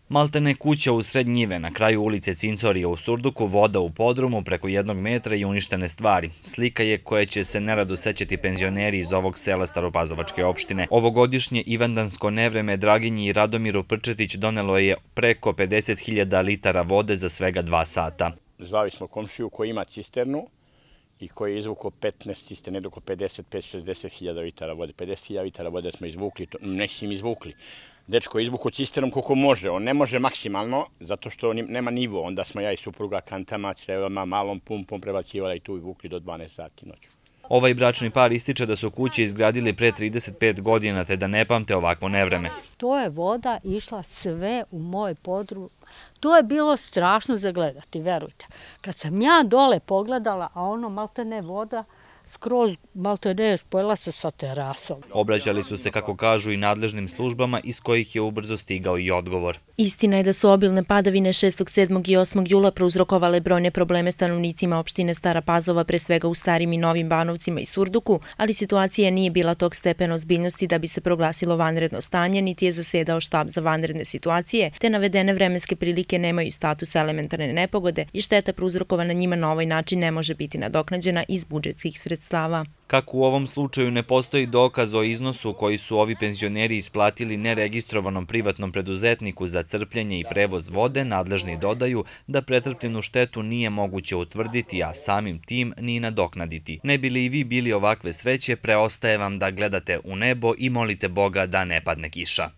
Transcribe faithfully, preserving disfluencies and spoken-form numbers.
Maltene kuća u sred njive na kraju ulice Cincorija u Surduku, voda u podrumu preko jednog metra i uništene stvari. Slika je koje će se nerado sećati penzioneri iz ovog sela Staropazovačke opštine. Ovogodišnje ivandansko nevreme Draginji i Radomiru Prčetić donelo je preko pedeset hiljada litara vode za svega dva sata. Zvali smo komšiju koji ima cisternu i koji je izvukao petnaest cisterne, oko pedeset do šezdeset hiljada litara vode. pedeset hiljada litara vode smo izvukli, nećemo izvukli. Dečko je izvukao cisternom koliko može, on ne može maksimalno, zato što nema nivo. Onda smo ja i supruga kantama, crevama, malom pumpom prebacivali tu i vukli do dvanaest sati noću. Ovaj bračni par ističe da su kuće izgradili pre trideset pet godina, te da ne pamte ovakvo nevreme. To je voda išla sve u moj podrum. To je bilo strašno za gledati, verujte. Kad sam ja dole pogledala, a ono maltene voda skroz maltene spojila se sa terasom. Obraćali su se, kako kažu, i nadležnim službama iz kojih je ubrzo stigao i odgovor. Istina je da su obilne padavine šestog, sedmog i osmog jula prouzrokovale brojne probleme stanovnicima opštine Stara Pazova, pre svega u Starim i Novim Banovcima i Surduku, ali situacija nije bila tog stepena ozbiljnosti da bi se proglasilo vanredno stanje, niti je zasedao štab za vanredne situacije, te navedene vremenske prilike nemaju status elementarne nepogode i šteta prouzrokovana njima na ovaj način ne može biti nadoknađena iz budžetskih sredstava. Kako u ovom slučaju ne postoji dokaz o iznosu koji su ovi penzioneri isplatili neregistrovanom privatnom preduzetniku za crpljenje i prevoz vode, nadležni dodaju da pretrpljenu štetu nije moguće utvrditi, a samim tim ni nadoknaditi. Ne bi li i vi bili ovakve sreće, preostaje vam da gledate u nebo i molite Boga da ne padne kiša.